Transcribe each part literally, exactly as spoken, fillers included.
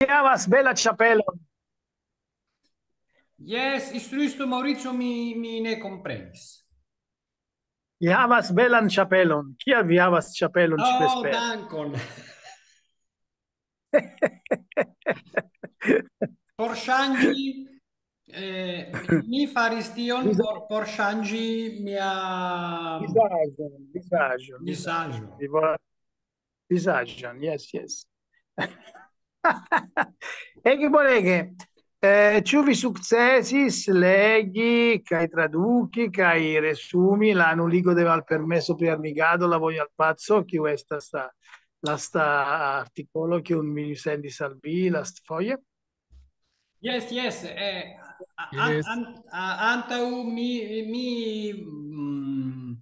havas bela ĉapelon. Jes, instruisto Maŭrico, mi, mi ne komprenis. Vi havas belan ĉapelon. Kial vi havas ĉapelon Oh, ĉi-vespere? Dankon. Por ŝanĝi, eh, mi faris tion por, por ŝanĝi mia Vizaĝon, vizaĝon, vizaĝo. Vi volas vizaĝon, jes, jes. Ege bonege. Eh, ĉu vi sukcesis legi kaj traduki kaj resumi la nuligo de malpermeso pri armigado la vojo al paco, kiu estas la lasta artikolo, kiun mi sendis al vi lastfoje? Jes, jes. Eh, a- an- Jes. an- a- antaŭ mi, mi mm,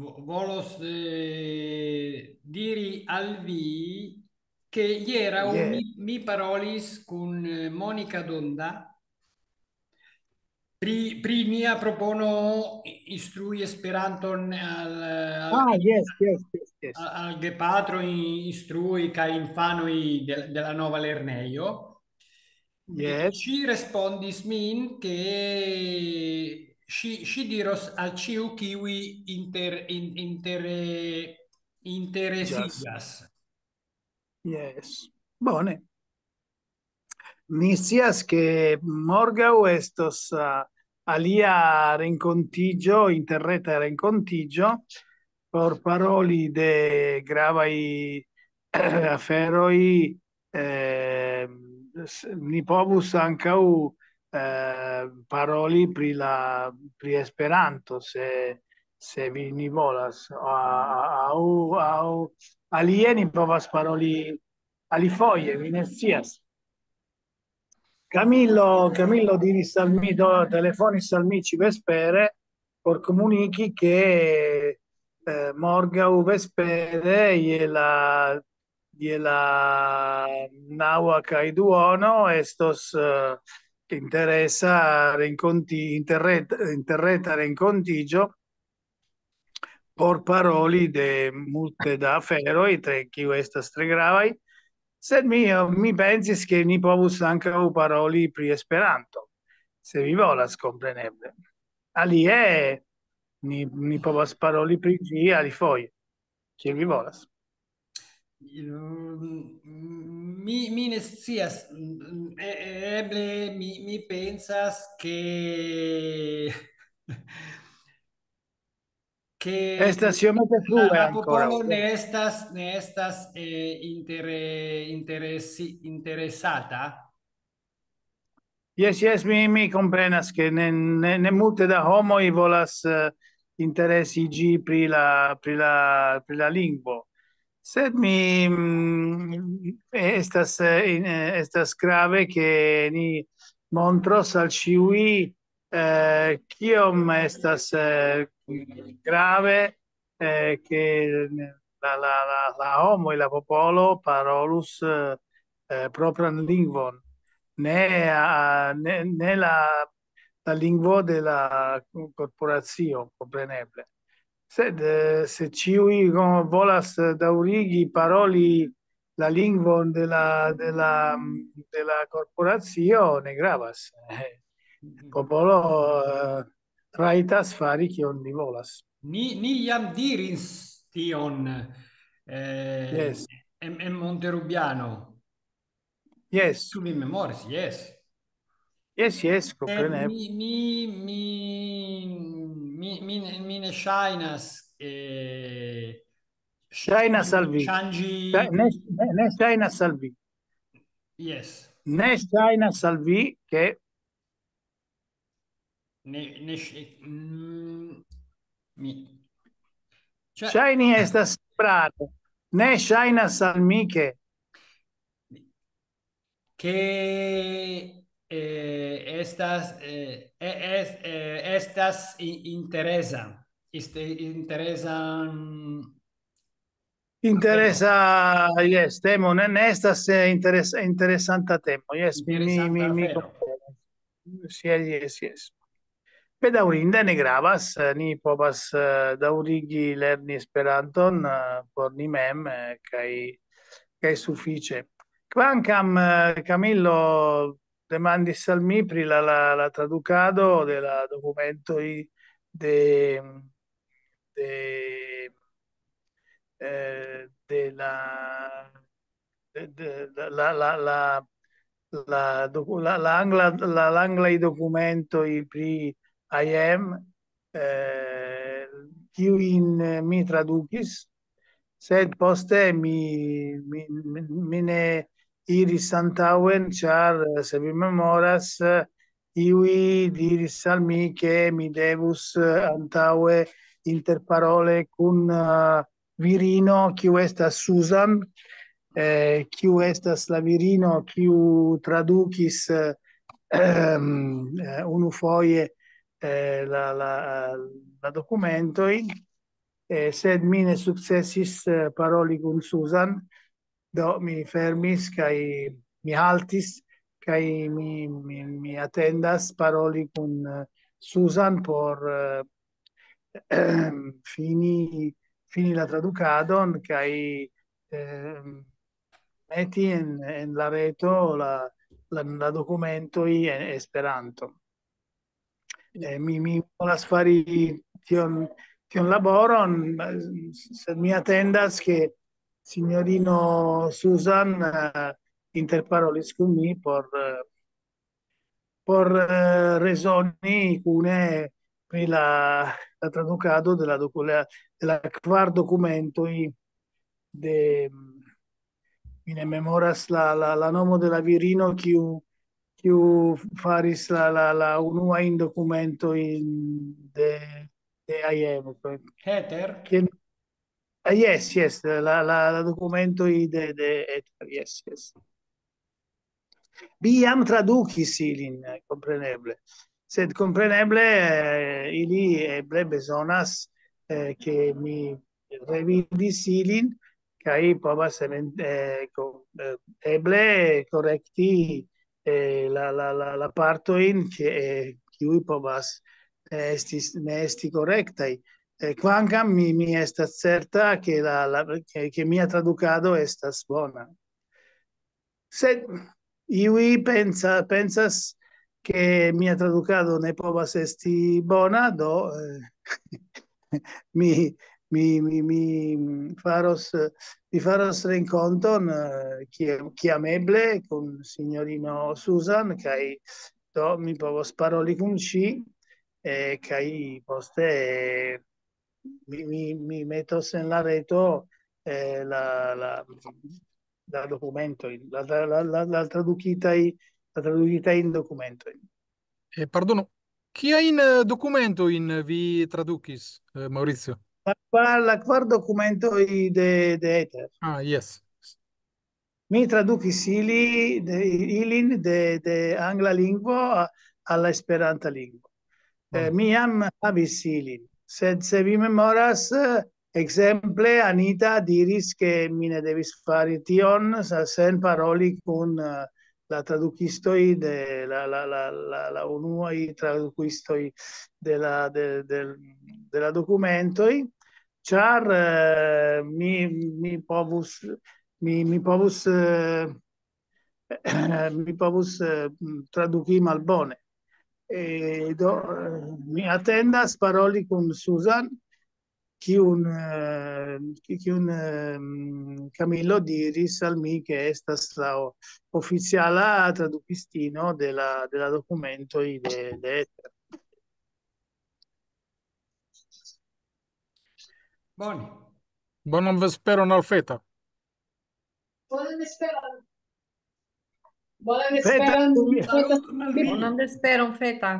vo- volos eh, diri al vi che iera Yes. mi, mi parolis con eh, Monica Donda pri, pri mia propono instrui Esperanton al, al, Ah, yes, yes, yes, yes. al, al gepatro in- instrui kaj infanoj de, de la nova lernejo. Yes. Ŝi respondis min, che ŝi, ŝi diros al ĉiu, kiuj inter, in, inter, interesiĝas. Yes. Bone. Mi scias, ke morgaŭ estos uh, alia renkontiĝo, interreta renkontiĝo, por paroli de gravaj aferoj. Eh, s- ni povus ankaŭ eh, paroli pri la pri Esperanto, se se vi ni volas, a- a- aŭ aŭ alie ni povas paroli alifoje, mi ne scias. Camillo, Camillo diris al mi, do, telefonis al mi ĉi-vespere por komuniki, ke eh, morgaŭ vespere je la je la naŭa kaj duono estos eh, interesa renkonti interret, interreta renkontiĝo por paroli de multe da aferoj, tre kiu estas tre gravaj, sed mi, mi pensis, ke ni povus ankaŭ paroli pri Esperanto, se vi volas, kompreneble. Alie ni, ni povas paroli pri ĝi alifoje, kiel vi volas. Mm, Mi, mi ne scias, mm, e- e- eble mi, mi pensas che che Estas iomete la, frue la ancora. Popolo ne estas, ne estas eh, inter, interesi, interesata. Yes, yes, mi, mi komprenas, ke ne, ne, ne multe da homoj volas eh, interesiĝi pri la, pri la, pri la lingvo. Sed mi mm, estas, eh, in- eh, estas grave, ke ni montros al ĉiuj eh, kiom estas eh, grave eh, ke la, la, la, la homoj, la popolo parolus eh, eh, propran lingvon, ne, a- ne, ne la, la lingvo de la korporacio, kompreneble. Sed eh, se ĉiuj volas eh, daŭrigi paroli la lingvon de la, de la, de la korporacio, ne gravas. Eh, Popolo eh, rajtas fari kion li volas. Ni, ni jam diris tion eh, Yes. en, en Monterubiano. Yes, Ĉu vi memoris? Yes. yes, yes, Eh, kompreneble. Mi, mi, mi, mi, mi, ne- mi ne ŝajnas eh, Ŝajnas al vi. Ŝanĝi. Ŝa- Ne, ne, ne ŝajnas al vi. Yes. Ne ŝajnas al vi, ke Ne, ne ŝ- mm, mi, cioè, ŝajni estas prave. Ne ŝajnas al mi, ke che eh, estas eh, e- es- eh, estas i- interesa. Este, interesa. Interesa, yes, temo, ne, ne estas eh, interes, interesanta temo. Yes, mi, mi, mi, mi Interesanta afero. komprenas. Yes, yes, yes. Bedaŭrinde ne gravas, eh, ni povas eh, daŭrigi lerni Esperanton eh, por ni mem eh, kaj kaj sufiĉe. Kvankam, eh, Camillo demandis al mi pri la, la, la tradukado de la dokumentoj de, de, eh, de la, de, de, de la, la, la, la, doku-, la, la angla, la, la anglaj dokumentoj pri I M, eh, kiujn, eh, mi tradukis, sed poste mi, mi, mi, mi ne iris antaŭen, ĉar, eh, se vi memoras, eh, iuj diris al mi, ke mi devus, eh, antaŭe interparole kun, eh, virino, kiu estas Susan, eh, kiu estas la virino, kiu tradukis, eh, ehm, eh, unufoje, eh, la, la, la dokumentojn, eh, sed mi ne sukcesis, eh, paroli kun Susan, do mi fermis kaj mi haltis, kaj mi, mi, mi atendas paroli kun, eh, Susan por, eh, fini, fini la tradukadon kaj, ehm, meti en, en la reto la, la, la dokumentoj en Esperanto. Eh, mi, mi volas fari tion, tion laboron, eh, sed mi atendas, ke sinjorino Susan, eh, interparolis kun mi por, eh, por, eh, rezoni kune pri la, la tradukado de la doku-, la, de la kvar dokumentoj de, mi ne memoras la, la, la nomo de la virino, kiu, kiu faris la, la, la unuajn dokumentojn de, de I M. Heather? Kien-, ah, yes, yes, la, la, la dokumentoj de, de Heather, yes, yes. Vi jam tradukis ilin, eh, kompreneble. Sed kompreneble, eh, ili eble bezonas, eh, ke mi revidis ilin, kaj povas event-, eh, ko-, eh, eble korekti, eh, la, la, la, la partojn, ke, eh, kiuj povas ne estis, ne esti korektaj. Eh, kvankam mi, mi estas certa, ke la, la, ke, ke mia tradukado estas bona. Sed iuj pensa-, pensas, ke mia tradukado ne povas esti bona, do, eh, mi, mi, mi, mi faros, mi faros renkonton, eh, kie-, kiam eble, kun sinjorino Susan, kaj do mi povos paroli kun ŝi, eh, kaj poste, eh, mi, mi, mi metos en la reto, eh, la, la, la dokumentojn, la, la, la, la, la tradukitaj, la tradukitajn dokumentojn. Eh, pardonu, kiajn, eh, dokumentojn vi tradukis, eh, Maurizio? La kvar, la kvar dokumentoj de, de Heather. Ah, yes. Mi tradukis ili, de, ilin de, de angla lingvo a, al la esperanta lingvo. Eh, mi jam havis ilin, sed se vi memoras, eh, ekzemple, Anita diris, ke mi ne devis fari tion, sa-, sen paroli kun, eh, la tradukistoj de la, la, la, la, la unuaj tradukistoj de la, de, de, de la dokumentoj, ĉar, eh, mi, mi povus, mi, mi povus, eh, mi povus, eh, traduki malbone. E do, eh, mi atendas paroli kun Susan, kiun, eh, ki-, kiun, ehm, Camillo diris al mi, ke estas la o-, oficiala tradukistino de la, de la dokumentoj de, de Heather. Bone. Bonan vesperon al Feta. Bonan vesperon. Bonan Feta, vesperon. Feta, mi Bonan vesperon, Feta.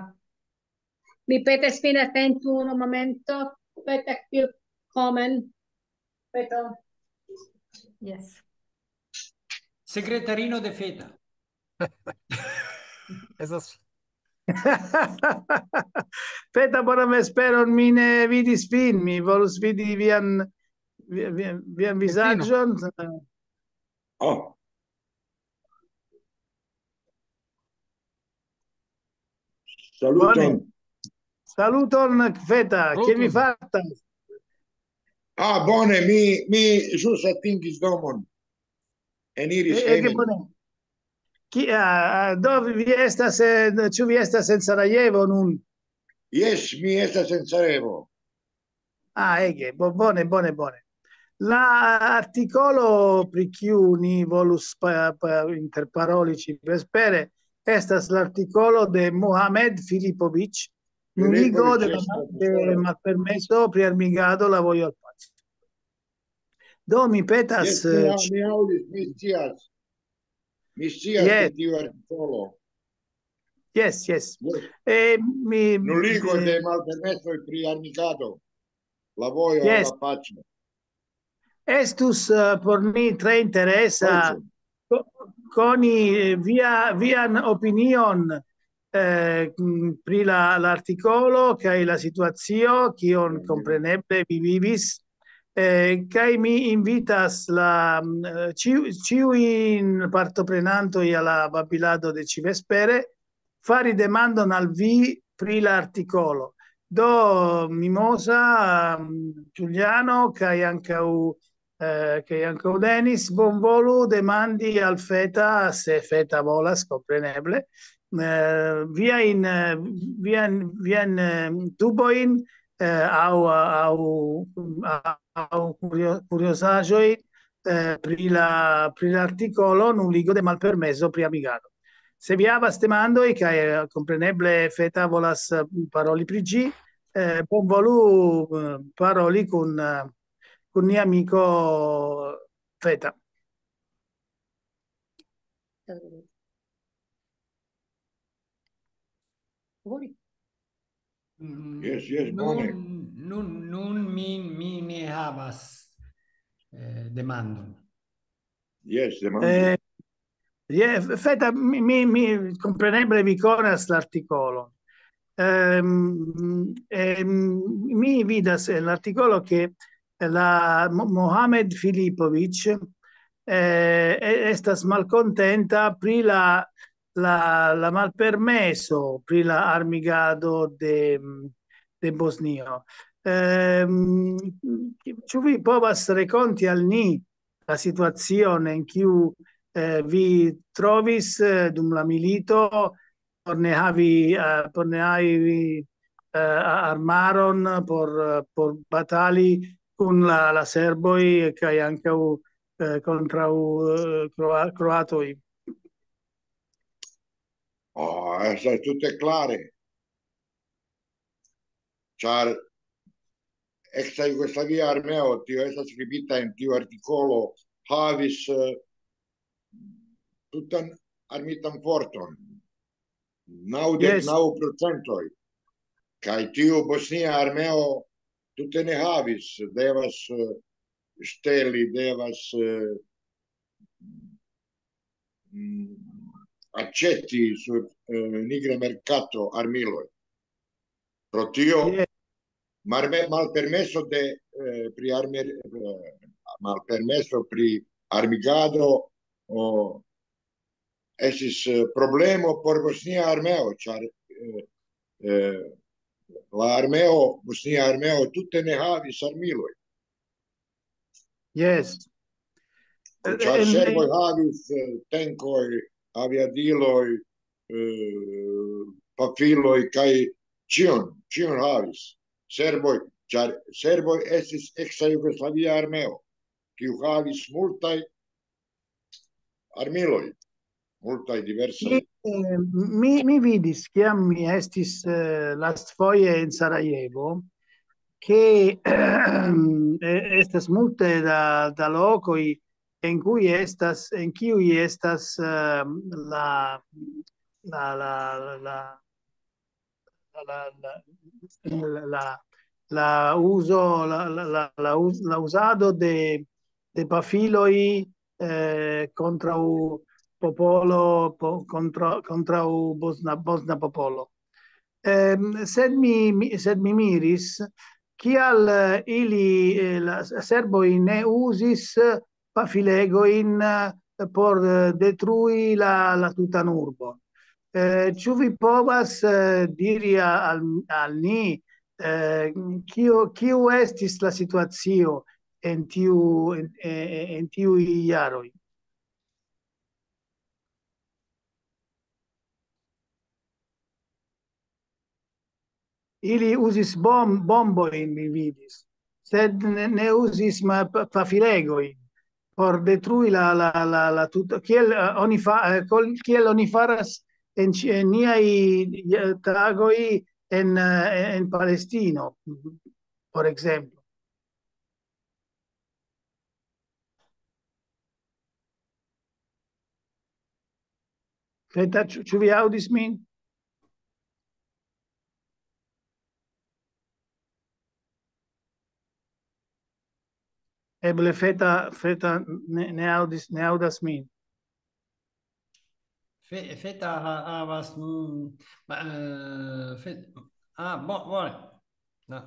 Mi petas fine atentu unu momento. Feta, kiu komen? Feta. Yes. Sekretarino de Feta. Esas. Feta, bonan vesperon, mi ne vidis vin, mi volus vidi vian, vi-, vi-, vian Fetino. Vizaĝon. Oh. Saluton. Bone. Saluton, Feta, kiel vi Saluton. Fartas? Ah, bone, mi, mi ĵus atingis domon. eniris hejmen. Bone. Ki, ah, do vi estas, eh, ĉu vi estas en Sarajevo nun? Jes, mi estas en Sarajevo. Ah, ege, bo-, bone, bone, bone. La artikolo pri kiu ni volus pa-, pa-, interparoli ĉi vespere estas l'artikolo de Mohamed Filipovic, nuligo de la, de malpermeso pri armigado la vojo al paco. Do mi petas, jes, mi, eh, aŭ-, mi aŭdis, mi scias. Mi scias pri tiu artikolo. Jes, jes. Jes. Eh, mi, nuligo de malpermesoj pri armigado. La vojo al la paco. Estus, eh, por ni tre interesa ko-, koni, eh, via, vian opinion, eh, mm, pri la, l'artikolo kaj la situacio, kion kompreneble vi vivis. Eh, kaj mi invitas la, mm, eh, ĉiu-, ĉiujn partoprenantoj al la babilado de ĉi vespere fari demandon al vi pri la artikolo. Do, Mimosa, mm, Giuliano, kaj ankaŭ, eh, kaj ankaŭ Denis, bonvolu demandi al Feta, se Feta volas, kompreneble, eh, viajn, eh, vian, vian, eh, dubojn, eh, aŭ, aŭ, aŭ kurio-, kuriozaĵoj, eh, pri la, pri l'artikolo nuligo de malpermeso pri armigado. Se vi havas demandoj, kaj, eh, kompreneble Feta volas, eh, paroli pri ĝi, eh, bonvolu, eh, paroli kun, eh, kun nia amiko Feta. Jes, jes, bone. Nun, nun, nun mi, mi ne havas, eh, demandon. Jes, demandu. Eh, je, Feta, mi, mi, mi, kompreneble vi konas l'artikolon. Ehm, ehm, mi vidas en l'artikolo ke la Mo-, Mohamed Filipovic, eh, e-, estas malkontenta pri la, la, la malpermeso pri la armigado de, de Bosnio. Ehm, ĉu vi povas rakonti al ni la situacion en kiu, eh, vi trovis, eh, dum la milito, por ne havi, eh, por ne havi, eh, a-, armaron por, eh, por batali kun la, la serboj kaj ankaŭ, eh, kontraŭ, eh, kroa-, kroatoj? Oh, estas tute klare. Ĉar eksa Jugoslavia armeo, tio estas skribita en tiu artikolo, havis, eh, tutan armitan forton, naŭdek naŭ procentoj. Kaj tiu bosnia armeo tute ne havis, devas, eh, ŝteli, devas, eh, mm, aĉeti sur, eh, nigra merkato armiloj. Pro tio, malme-, malpermeso de, eh, pri arme-, eh, malpermeso pri armigado, o, estis, eh, problemo por bosnia armeo, ĉar, eh, eh, la armeo, bosnia armeo tute ne havis armiloj. Jes. Ĉar en serboj havis, eh, tenkoj, aviadiloj, eh, pafiloj kaj ĉion, ĉion havis. Serboj, ĉar serboj estis eksa Jugoslavia armeo, kiu havis multaj armiloj, multaj diversaj. Mi, eh, mi, mi vidis, kiam mi estis, eh, lastfoje en Sarajevo, ke, eh, estas multe da, da lokoj en kiuj estas, en kiuj estas, eh, la, la, la, la, la, la, la, la, la uzo, la, la, la, la uz-, la uzado de, de pafiloj, eh, kontraŭ popolo, po-, kontraŭ, kontraŭ bosna, bosna popolo. Ehm, sed mi, mi, sed mi miris, kial, eh, ili, eh, la s-, serboj ne uzis pafilegojn, eh, por, eh, detrui la, la tutan urbon. Eh, ĉu vi povas, eh, diri a-, al, al ni, eh, kio, kio estis la situacio en tiu, en, en, en tiuj jaroj? Ili uzis bom-, bombojn, mi vidis, sed ne, ne uzis ma-, pa-, pafilegojn por detrui la, la, la, la tuta, kiel, eh, oni fa-, eh, kol-, kiel oni faras en ĉi-, en niaj, eh, tagoj en, eh, en Palestino, por ekzemplo. Feta, ĉu, ĉu vi aŭdis min? Eble Feta, Feta ne, ne aŭdis, ne aŭdas min. Fe-, Feta ha-, havas, mm, ma, eh, Fe-, ah, bo-, bone. No.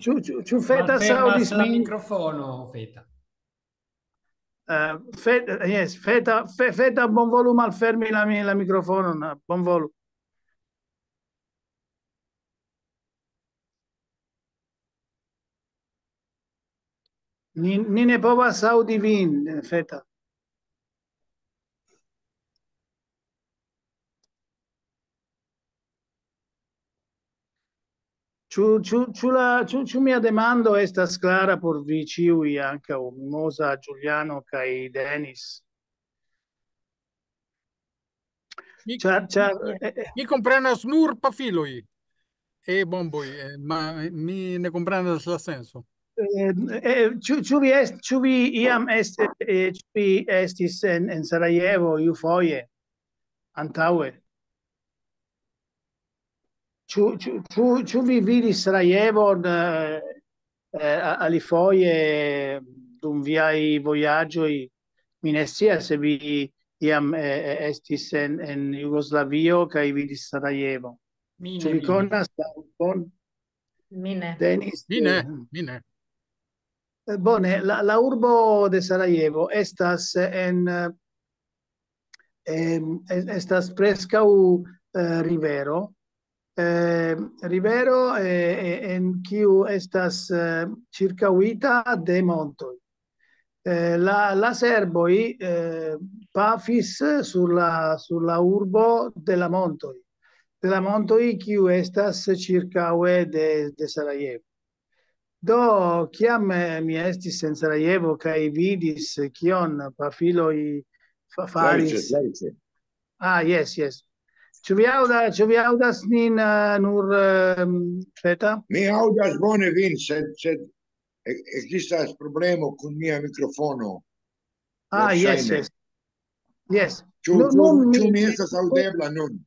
Ĉu, ĉu, ĉu Feta Malfermas aŭdis la min? Mikrofono, Feta. Eh, Fe-, yes, Feta, Fe-, Feta, bonvolu malfermi la mi-, la mikrofonon, eh, bonvolu. Ni, ni ne povas aŭdi vin, eh, Feta. Ĉu, ĉu, ĉu la, ĉu, ĉu mia demando estas klara por vi ĉiuj, ankaŭ Mimoza, Giuliano kaj Denis? Mi, Ĉar, ĉar, eh, eh, mi komprenas nur pafiloj e bomboj, eh, ma mi ne komprenas la senso. eh, eh, ĉu, ĉu vi est-, ĉu vi iam est-, eh, ĉu vi estis en, en Sarajevo iufoje antaŭe? Ĉu, ĉu, ĉu, ĉu vi vidis Sarajevon, eh, eh, a-, alifoje dum viaj vojaĝoj? Mi ne scias se vi iam, eh, eh, estis en, en Jugoslavio kaj vidis Sarajevo. Mi Ĉu ne vi vidis. Konas la urbon? Mi ne. Denis? Mi ne, Eh, mi ne. Eh, Bone, la, la urbo de Sarajevo estas en, eh, em, es-, estas preskaŭ, eh, rivero. Eh, rivero, eh, eh, en kiu estas, eh, ĉirkaŭita de montoj. Eh, la, la serboj, eh, pafis sur la, sur la urbo de la montoj. De la montoj, kiu estas ĉirkaŭe de, de Sarajevo. Do, kiam, eh, mi estis en Sarajevo kaj vidis, eh, kion pafiloj fa-, faris. Felice, Felice. Ah, yes, yes. Ĉu vi aŭda-, ĉu vi aŭdas nin, eh, nur, ehm, Feta? Mi aŭdas bone vin, sed, sed e-, ekzistas problemo kun mia mikrofono. Ah, yes, Verŝajne. Yes. Yes. Ĉu, Nun, ĉu, nun ĉu mi mi estas aŭdebla nun?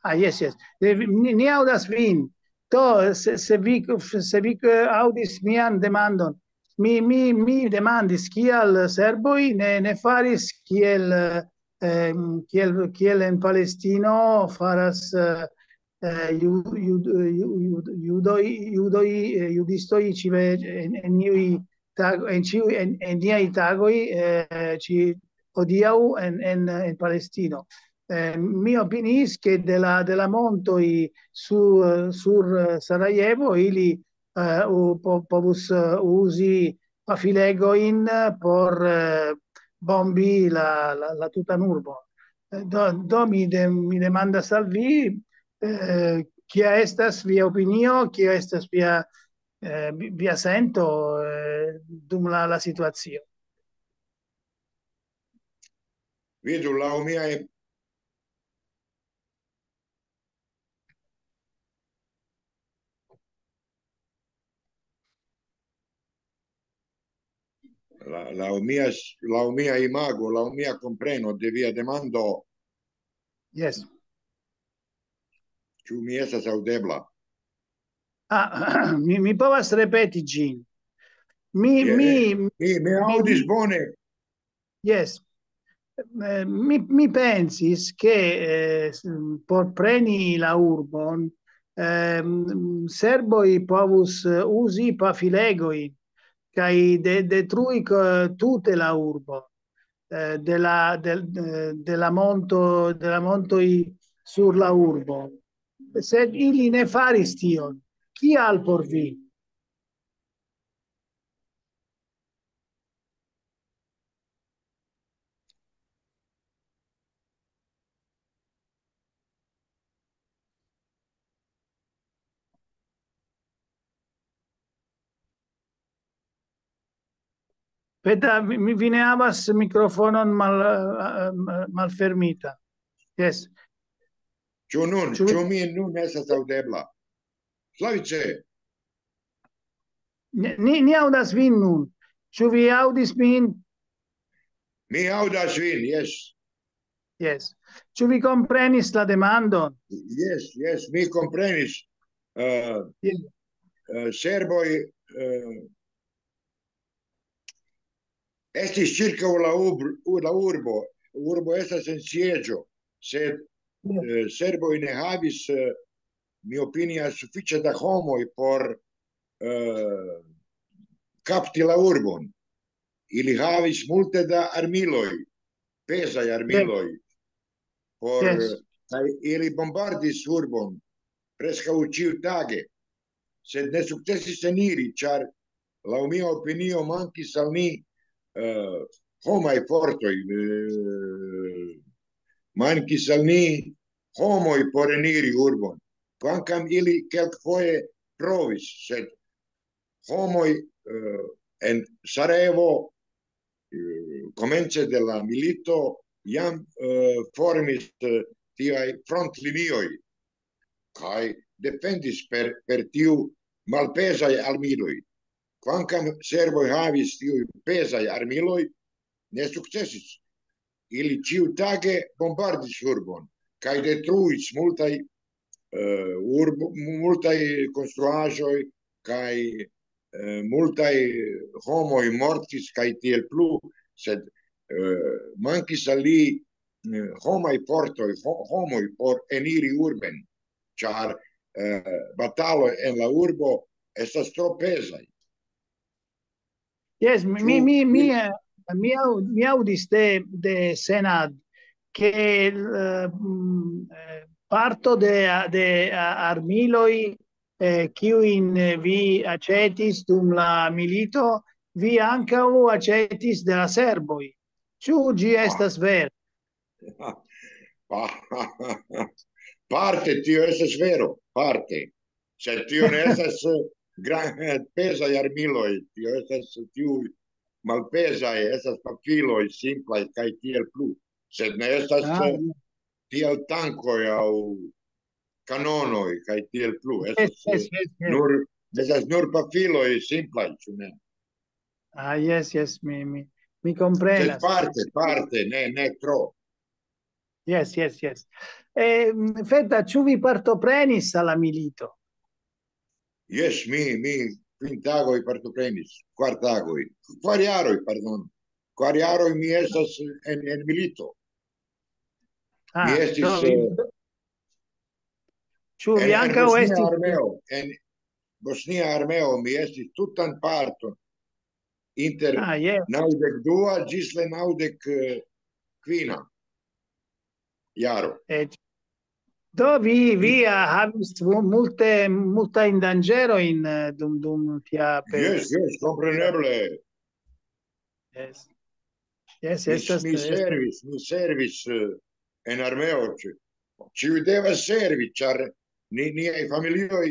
Ah, yes, yes. Eh, vi-, ni, ni aŭdas vin. Do, se, se vi, se vi, eh, aŭdis mian demandon, mi, mi, mi demandis, kial serboj ne, ne faris kiel, eh, em, kiel, kiel en Palestino faras, eh, eh, ju-, ju-, ju-, ju-, judoj, judoj, eh, judistoj ĉive-, en, en iuj tag-, en ĉiuj, en, en niaj tagoj, eh, ĉi hodiaŭ en, en, en Palestino. Eh, mi opiniis, ke de la, de la montoj su-, sur, eh, Sarajevo ili, eh, u-, po-, povus, eh, uzi pafilegojn por, eh, bombi la, la, la tutan urbon. Eh, do, do mi de-, mi demandas al vi, eh, kia estas via opinio, kia estas via, eh, vi-, via sento, eh, dum la, la situacio. Vidu, laŭ miaj, la-, laŭ mia, laŭ mia imago, laŭ mia kompreno de via demando, Yes. Ĉu mi estas aŭdebla? Ah, mi, mi povas ripeti ĝin. Mi, Yes. Mi, Mi, mi aŭdis bone. Yes. Eh, mi, mi pensis, ke, eh, s-, por preni la urbon, ehm, serboj povus, eh, uzi pafilegojn kaj de-, detrui ko-, tute la urbon, eh, de la, de, de, de la monto, de la montoj sur la urbo. Sed ili ne faris tion. Kial por vi? Peter, mi, mi, vi ne havas mikrofonon mal, eh, malfermita. Yes. Ĉu nun, Ĉu vi- ĉu mi nun estas aŭdebla? Slavice, Ni, ni, ni aŭdas vin nun. Ĉu vi aŭdis min? Mi aŭdas vin, jes. Yes. Ĉu vi komprenis la demandon? Jes, jes, mi komprenis. Uh, Yes. uh, serboj uh, estis ĉirkaŭ la, ur, la urbo. Urbo estas en sieĝo, sed uh, serboj ne havis, uh, mi opinias, sufiĉe da homoj por uh, kapti la urbon. Ili havis multe da armiloj, pezaj armiloj, por, Yes. Kaj ili bombardis urbon preskaŭ ĉiutage, sed ne sukcesis eniri, ĉar laŭ mia opinio mankis al ni uh, homaj fortoj, uh, mankis al ni homoj por eniri urbon, kvankam ili kelkfoje provis, sed homoj uh, en Sarajevo uh, komence de la milito jam uh, formis uh, tiaj frontlinioj kaj defendis per, per tiu malpezaj armiloj. Kvankam serboj havis tiuj pezaj armiloj, ne sukcesis. Ili ĉiutage bombardis urbon kaj detruis multaj uh, urbo, multaj konstruaĵoj kaj uh, multaj homoj mortis kaj tiel plu, sed uh, mankis al li uh, homaj fortoj, ho, homoj por eniri urben, ĉar uh, bataloj en la urbo estas tro pezaj. Yes, mi, mi, mi, mi, eh, mi, au- mi aŭdis de, de Senad che eh, mm, eh, parto de, de a- armiloj eh, kiujn eh, vi aĉetis dum la milito, vi ankaŭ aĉetis de la serboj. Ĉu ĝi estas vera? Pa- parte tio estas vero, parte. Sed tio ne estas eh, gran, pezaj armiloj, tio estas tiu malpezaj, estas pafiloj simplaj kaj tiel plu. Sed ne estas Ah, eh, tiel tankoj aŭ kanonoj kaj tiel plu. Estas, yes, yes, eh, yes, yes. Nur, estas nur pafiloj simplaj, ĉu ne? Ah, yes, yes, mi, mi, mi Sed komprenas. Parte, parte, ne, ne tro. Yes, yes, yes. Eh, Feta, ĉu vi partoprenis al la milito? Jes, mi, mi kvin tagoj partoprenis, kvar tagoj, kvar jaroj, pardon. Kvar jaroj mi estas en, en milito. Ah, Mi estis, do vi- eh, Ĉu en, vi en ankaŭ Bosnia estis? Armeo, en Bosnia Armeo mi estis tutan parton inter Ah, yes. naŭdek dua ĝis la naŭdek kvina jaro. Eh, do vi, vi ah, havis mu- multe, multajn danĝerojn eh, dum, dum tia pe- Jes, jes, kompreneble. Yes. Yes, Mi, estas, mi estas- servis, mi servis eh, en armeo. Ĉi- Ĉiuj devas servi, ĉar ni, niaj familioj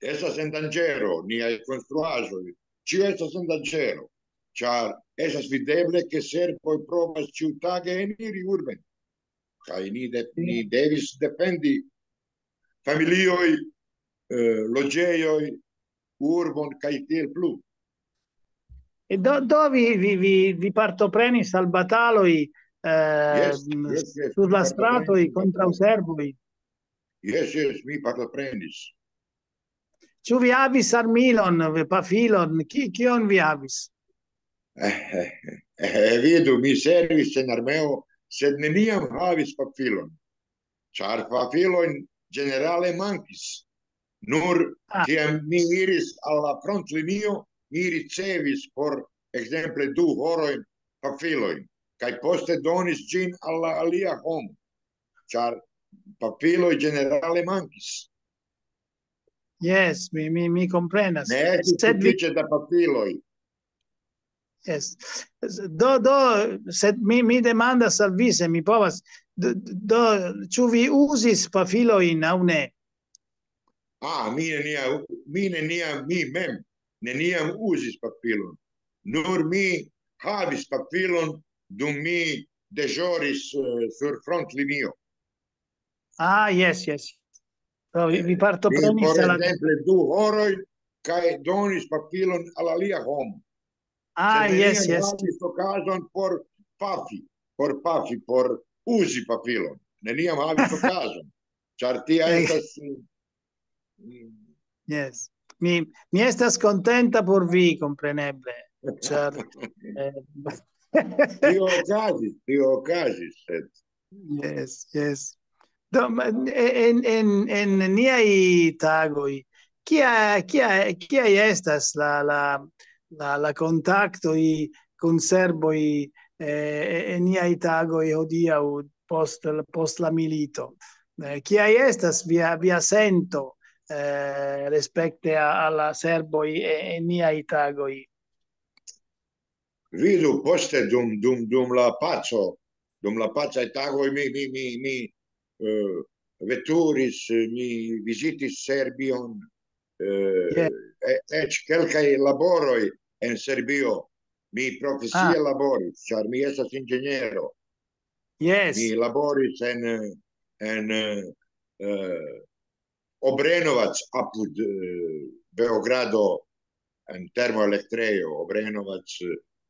estas en danĝero, niaj konstruaĵoj, ĉio estas en danĝero, ĉar estas videble, ke serboj provas ĉiutage eniri urben. Kaj ni, de, ni devis defendi familioj, eh, loĝejoj, urbon kaj tiel plu. E do, do vi, vi, vi, vi partoprenis al bataloj eh, Jes, jes, jes, sur mi la partoprenis stratoj al kontraŭ bataloj. Serboj? Jes, jes, mi partoprenis. Ĉu vi havis armilon, pafilon? Ki, kion vi havis? Eh, eh, eh, vidu, mi servis en armeo, sed neniam havis pafilon, ĉar pafilojn ĝenerale mankis. Nur Ah. Kiam mi iris al la frontlinio, mi ricevis por ekzemple du horojn pafilojn, kaj poste donis ĝin al la alia homo, ĉar pafiloj ĝenerale mankis. Yes, mi, mi, mi komprenas. Ne estis Sed vi, sufiĉe da pafiloj. yes. Do, do, sed mi, mi demandas al vi, se mi povas, do, do, ĉu vi uzis pafilojn aŭ ne? Ah, mi neniam, mi neniam, mi mem neniam uzis pafilon. Nur mi havis pafilon dum mi deĵoris, eh, sur frontlinio. Ah, yes, yes. Do, vi, vi Por partoprenis al la... ekzemple, du horoj, kaj donis pafilon al alia homo. Ah, Sed yes, neniam yes. havis okazon por pafi, por pafi, por uzi pafilon. Neniam havis okazon, ĉar tia Eh. Estas, mm, Yes. Mi, mi estas kontenta por vi, kompreneble. Ĉar, eh, tio okazis, tio okazis, sed Yes, yes. Do, ma, en, en, en niaj tagoj, kia, kia, kiaj estas la, la, la, la kontaktoj kun serboj, eh, en niaj tagoj hodiaŭ post, post la milito? Eh, kiaj estas via, via sento, eh, respekte a, a la serboj en, en niaj tagoj? Vidu, poste dum, dum, dum la paco, dum la pacaj tagoj mi, mi, mi, mi, eh, veturis, mi vizitis Serbion, eh, Yes. e-, eĉ kelkaj laboroj en Serbio. Mi profesie Ah. Laboris, ĉar mi estas inĝeniero. Yes. Mi laboris en, en, eh, Obrenovac apud, eh, Beogrado, en termoelektrejo Obrenovac.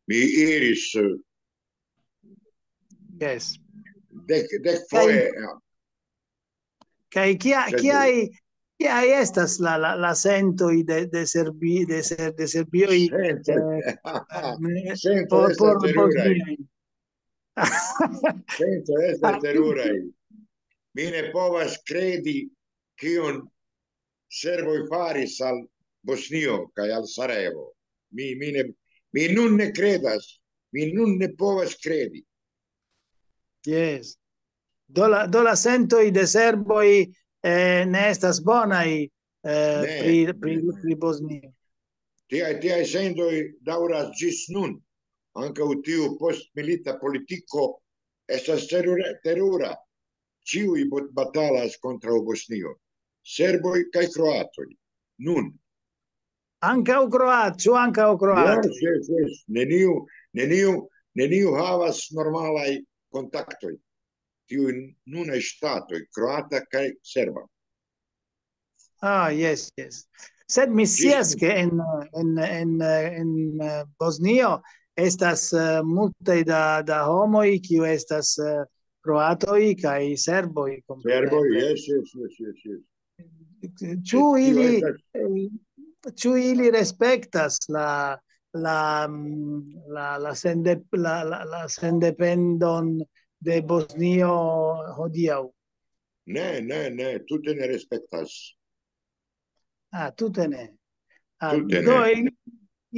Mi iris, eh, Yes. dek, dek foje. Kaj kia, Sed kiaj, kiaj estas la, la, la sentoj de, de Serbi-, de ser-, de serbioj, Sento, eh, sento por, estas por teruraj. Bosnioj? Sento estas teruraj. Mi ne povas kredi, kion serboj faris al Bosnio kaj al Sarajevo. Mi, mi ne, mi nun ne kredas, mi nun ne povas kredi. Yes. Do la, do la sentoj de serboj, eh, ne estas bonaj, eh, Ne, pri, pri, ne, ne. Pri Bosnio. Tiaj, tiaj sentoj daŭras ĝis nun. Ankaŭ tiu postmilita politiko estas terura, terura. Ĉiuj bot-, batalas kontraŭ Bosnio. Serboj kaj kroatoj. Nun. Ankaŭ kroat-, ĉu ankaŭ kroatoj? Yes, yes, yes. Neniu, neniu, neniu havas normalaj kontaktoj. Tiuj nunaj ŝtatoj, kroata kaj serba. Ah, yes, yes. Sed mi scias, ke en, en, en, en, eh, Bosnio estas, eh, multaj da, da homoj, kiu estas, eh, kroatoj kaj serboj, kompreneble. Serboj, yes, yes, yes, yes, yes. Ĉu Tio ili, estas eh, ĉu ili respektas la, la, mm, la, la sende-, la, la, la sendependon de Bosnio hodiaŭ? Ne, ne, ne, tute ne respektas. Ah, tute ne. Ah, Tute do ne. ili,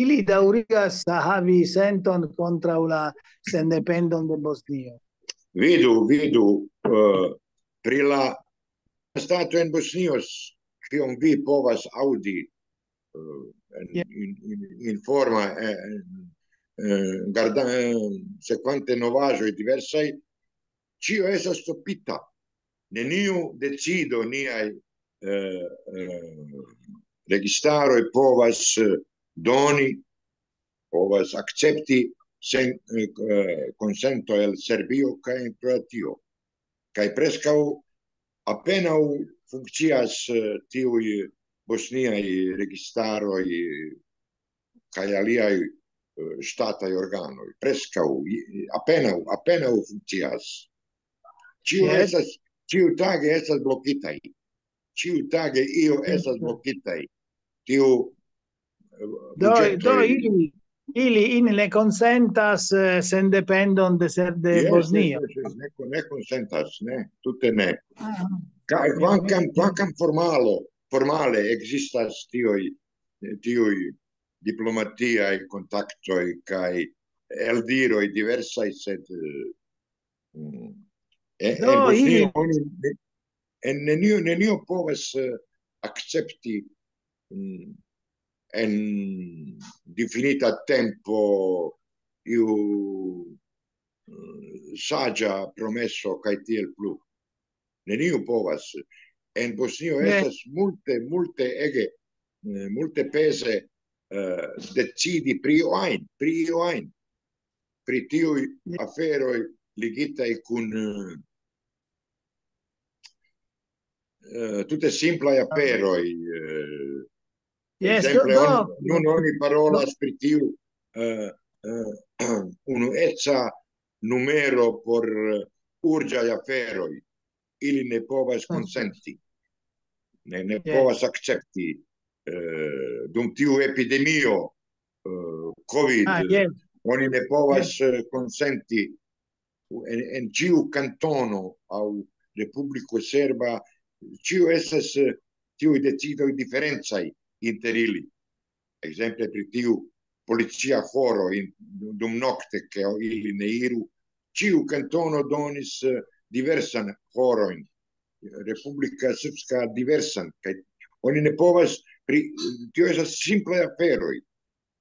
ili daŭrigas havi senton kontraŭ la sendependon de Bosnio. Vidu, vidu, eh, pri la stato en Bosnio, kion vi povas aŭdi, eh, en, Ja. in, in, informa, eh, eh, garda-, eh, sekvante novaĵoj diversaj, ĉio estas stopita. Neniu decido niaj, eh, eh, registaroj povas, eh, doni, povas akcepti sen, eh, eh, konsento el Serbio kaj en Kroatio. Kaj preskaŭ apenaŭ funkcias, eh, tiuj bosniaj registaroj, eh, kaj aliaj, eh, ŝtataj organoj. Preskaŭ, i-, apenaŭ, apenaŭ funkcias. Ĉio Yes. Estas, ĉiutage estas blokitaj. Ĉiutage io Yes, estas yes. Blokitaj. Tiu, eh, Do, do buĝetoj ili, ili, ili ne konsentas, eh, sendependon de ser-, de Yes, Bosnio. Yes, yes, ne kon-, ne konsentas, ne, tute ne. Ah, Ka-, mi, kvankam, mi, kvankam formalo, formale ekzistas tiuj, tiuj diplomatiaj kontaktoj kaj eldiroj diversaj, sed, eh, mm, en, en Do, Bosnio ili oni ne, en nenio, nenio povas, eh, akcepti, mm, en difinita tempo iu, mm, saĝa promeso kaj tiel plu. Neniu povas. En Bosnio Ne. Estas multe, multe ege, eh, multe peze, eh, decidi pri io ajn, pri io ajn, pri tiuj aferoj ligitaj kun, eh, eh, tute simplaj aferoj. Eh, Jes, ekzemple, do, on, do, nun oni parolas pri tiu, eh, eh, unueca numero por, eh, urĝaj aferoj. Ili ne povas konsenti, ne, ne Jes. povas akcepti, eh, dum tiu epidemio, eh, COVID, Ah, jes. oni ne povas, eh, konsenti en, en ĉiu kantono aŭ Republiko Serba, ĉio estas, eh, tiuj decidoj diferencaj inter ili. Ekzemple pri tiu policia horo in, dum nokte, ke ili ne iru. Ĉiu kantono donis, eh, diversan horojn. Republika Srpska diversan, kaj oni ne povas pri, tio estas simplaj aferoj.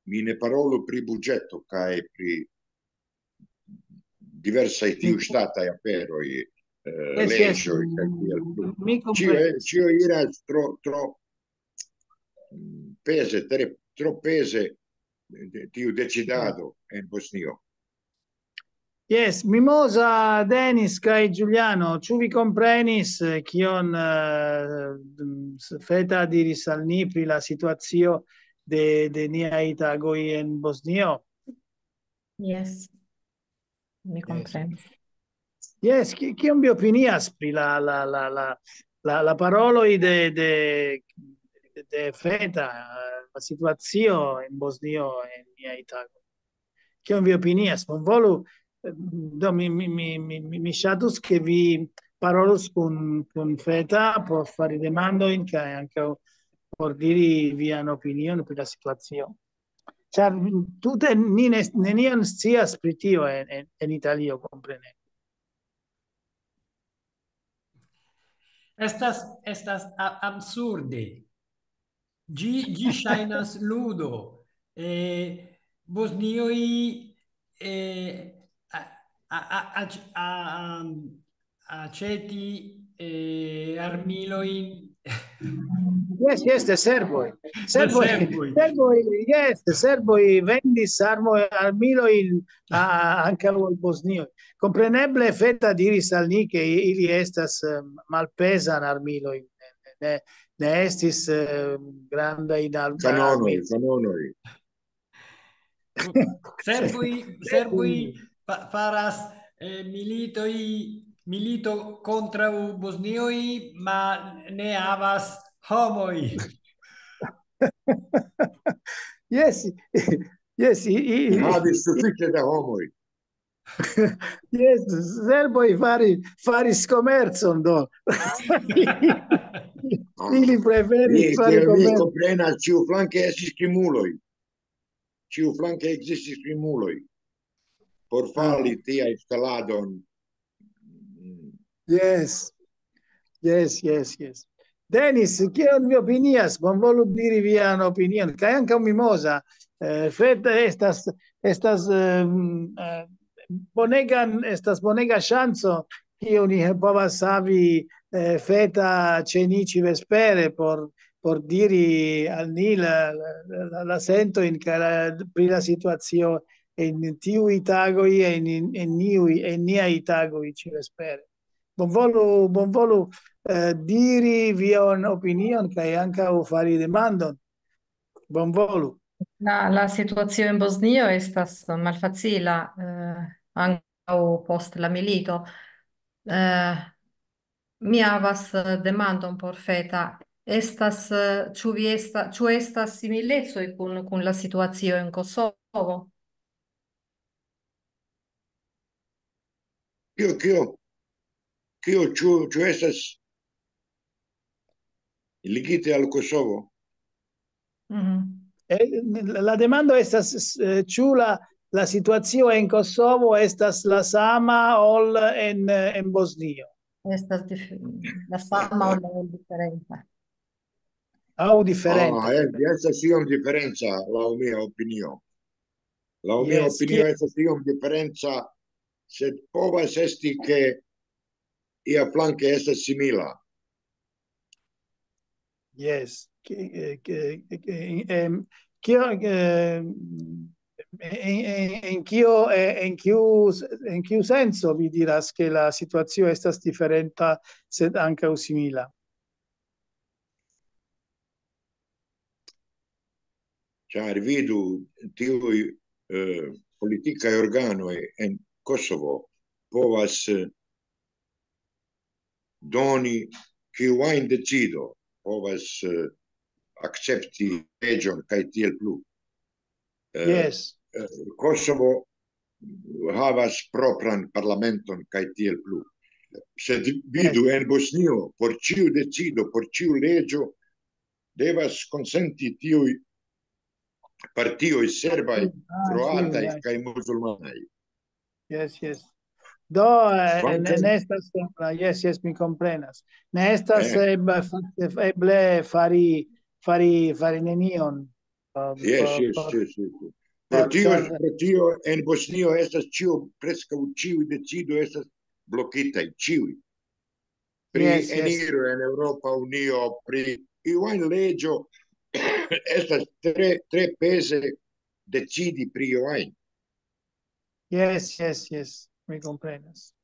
Mi ne parolu pri budĝeto kaj pri diversaj tiu ŝtataj aferoj, eh, Jes, jes, leĝoj kaj tiel plu. Mi Ĉio, komprenas. Ĉio iras tro, tro, mm, peze, tre, tro peze, de, tiu decidado en Bosnio. Jes, Mimoza, Denis kaj Giuliano, ĉu vi komprenis, eh, kion, eh, s-, Feta diris al ni pri la situacio de, de niaj tagoj en Bosnio? Jes, mi komprenas. Jes, ki-, kion vi opinias pri la, la, la, la, la, la paroloj de, de, de Feta, eh, la situacio en Bosnio en niaj tagoj? Kion vi opinias? Bonvolu, eh, do mi, mi, mi, mi, mi, mi ŝatus, ke vi parolus kun, kun Feta por fari demandojn kaj ankaŭ por diri vian opinion pri la situacio. Ĉar tute ni ne, nenion scias pri tio en, en, en Italio, kompreneble. Estas, estas a-, absurde. Ĝi, ĝi ŝajnas ludo. Eh, Bosnioj, eh, a, a, a, a, a, aĉeti, eh, armilojn. Jes, jes, de serboj. De Serboj, serboj. Serboj, jes, de serboj vendis armoj, armilojn a, a, ankaŭ al Bosnioj. Kompreneble Feta diris al ni, ke ili estas, eh, malpezan armilojn. Ne, ne estis, eh, grandaj armoj. Kanonoj, kanonoj. Serboj, serboj fa-, faras, eh, militoj, milito kontraŭ Bosnioj, ma ne havas homoj. Jes, jes, i, i, Havis sufiĉe da homoj. Jes, serboj fari, faris komercon, do. Ili preferis Mi, fari kiel mi komercon. Komprenas, ĉiuflanke estis krimuloj. Ĉiuflanke ekzistis krimuloj. Por fali tiaj staladon. Jes. Jes, jes, jes. Denis, kion vi opinias? Bonvolu diri vian opinion. Kaj ankaŭ Mimoza. Eh, Feta estas, estas, ehm, eh, bonegan, estas bonega ŝanco, kiu ni povas havi, eh, Feta ĉe ni ĉi vespere por, por diri al ni la, la, la, la sentojn kaj la, pri la situacio en tiuj tagoj, en, en niuj, en niaj tagoj ĉi vespere. Bonvolu, bonvolu, eh, diri vian opinion kaj ankaŭ fari demandon. Bonvolu. La, la situacio en Bosnio estas malfacila, eh, ankaŭ post la milito. Eh, mi havas, eh, demandon por Feta. Estas, eh, ĉu vi esta-, ĉu estas similecoj kun, kun la situacio en Kosovo? Kio, kio? Kio, ĉu, ĉu estas ligite al Kosovo? Mhm. Eh, la demando estas, eh, ĉu la, la situacio en Kosovo estas la sama ol en, eh, en Bosnio? Estas dif-, la sama ol la diferenca? Aŭ diferenta? Ah, eh, estas iom diferenca, laŭ mia opinio. Laŭ mia Jes, opinio kiel estas iom diferenca, sed povas esti, ke ia flanke estas simila. Jes, ke, ke, ke, em, Kio, eh, en, en, en kio, eh, en kiu, en kiu senco vi diras, ke la situacio estas diferenta, sed ankaŭ simila? Ĉar vidu, tiuj, eh, politikaj organoj en Kosovo povas, eh, doni kiu ajn decido, povas, eh, akcepti leĝon kaj tiel plu. Eh, Yes. eh, Kosovo havas propran parlamenton kaj tiel plu. Sed vidu, en Bosnio, por ĉiu decido, por ĉiu leĝo, devas konsenti tiuj partioj serbaj, Ah, kroataj yes. Kaj musulmanaj. Yes, yes. Do, eh, ne, Kvankam ne estas, eh, yes, yes, mi komprenas. Ne estas Eh. eble, fakte eble fari, fari, fari nenion. Eh, Yes, por- yes, por- yes, yes. Pro per- tio, per- pro tio en Bosnio estas ĉio, preskaŭ ĉiuj decido estas blokitaj, ĉiuj. Pri Yes, yes. Eniro en Eŭropa Unio, pri iu ajn leĝo estas tre, tre peze decidi pri iu ajn. Yes, yes, yes, mi komprenas.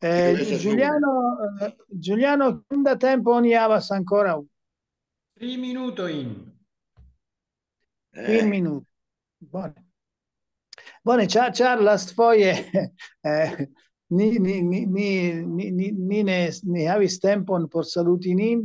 Eh, Tio estas Giuliano, eh, Giuliano, kiom da tempo ni havas ankoraŭ? Tri minutojn. Kvin Eh, minuti. Bone. Bone, ĉar, ĉar lastfoje, eh, ni, ni, ni, ni, ni, ni, ni ne, ni havis tempon por saluti nin.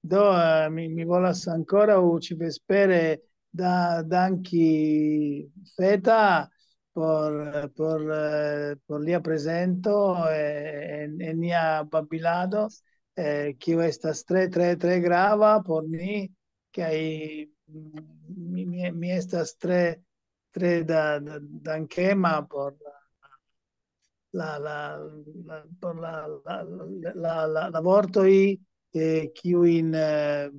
Do, eh, mi, mi volas ankoraŭ ĉi vespere da, danki Feta por, por, eh, por lia prezento, eh, en, en nia babilado, eh, kiu estas tre, tre, tre grava por ni, kaj, mm, mi, mi, mi estas tre, tre da, da, dankema por la, la, la, la, por la, la, la, la, la, la vortoj, eh, kiujn, eh,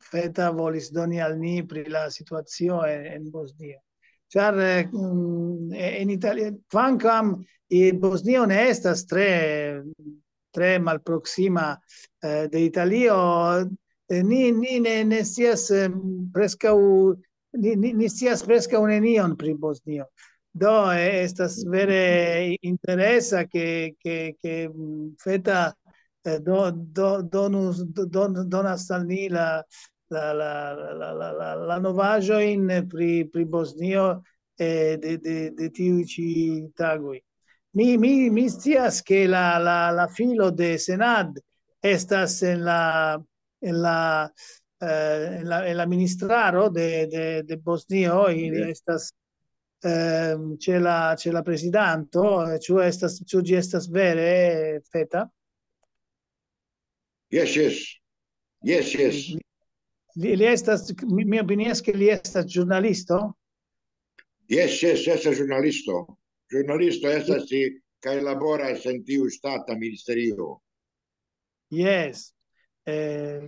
Feta volis doni al ni pri la situacio en, en Bosnio. Ĉar, eh, mm, en Italia, kvankam, eh, Bosnio ne estas tre, tre malproksima, eh, de Italio, eh, ni, ni ne, ne scias, eh, preskaŭ, ni, ni, ni scias preskaŭ nenion pri Bosnio. Do, eh, estas vere interesa, ke, ke, ke, mm, Feta, eh, do, do, donus, do, don-, donas al ni la, la, la, la, la, la, la, la novaĵojn pri, pri Bosnio, eh, de, de, de tiuj ĉi tagoj. Mi, mi, mi scias, ke la, la, la filo de Senad estas en la, en la, eh, en la, en la ministraro de, de, de Bosnio, ili Yes. estas, ehm, ĉe la, ĉe la prezidanto, eh, ĉu estas, ĉu ĝi estas vere, eh, Feta? Yes, yes. Yes, yes. Li, li estas, mi, mi opinias, ke li estas ĵurnalisto. Yes, yes, estas ĵurnalisto. Ĵurnalisto estas, eh, kaj laboras en tiu ŝtata ministerio. Yes. Eh,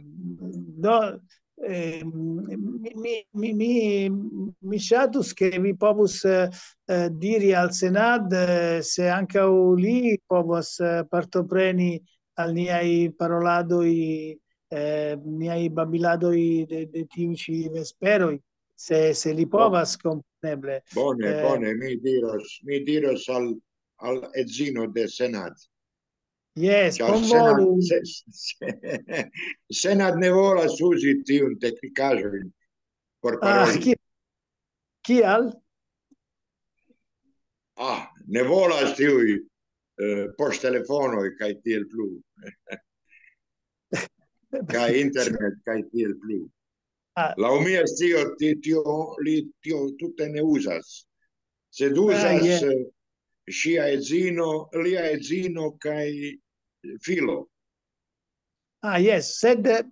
do, eh, mi, mi, mi, mi, mi ŝatus, ke vi povus, eh, eh, diri al Senad, eh, se ankaŭ li povas, eh, partopreni al niaj paroladoj, eh, niaj babiladoj de, de tiuj ĉi vesperoj, se, se li povas, kompreneble. Bone, Eh, bone, mi diros, mi diros al, al edzino de Senad. Yes, Ĉar bonvolu. Senad, se, se, Senad ne volas uzi tiun teknikaĵojn por Ah, paroli. ki-, kial? Ah, ne volas tiuj, eh, poŝtelefonoj kaj tiel plu. Kaj internet kaj tiel plu. Ah. Laŭ mi, tio, ti-, tio, li tio tute ne uzas. Sed Ah, uzas, yes. eh, ŝia edzino, lia edzino kaj filo. Ah, yes, sed, eh,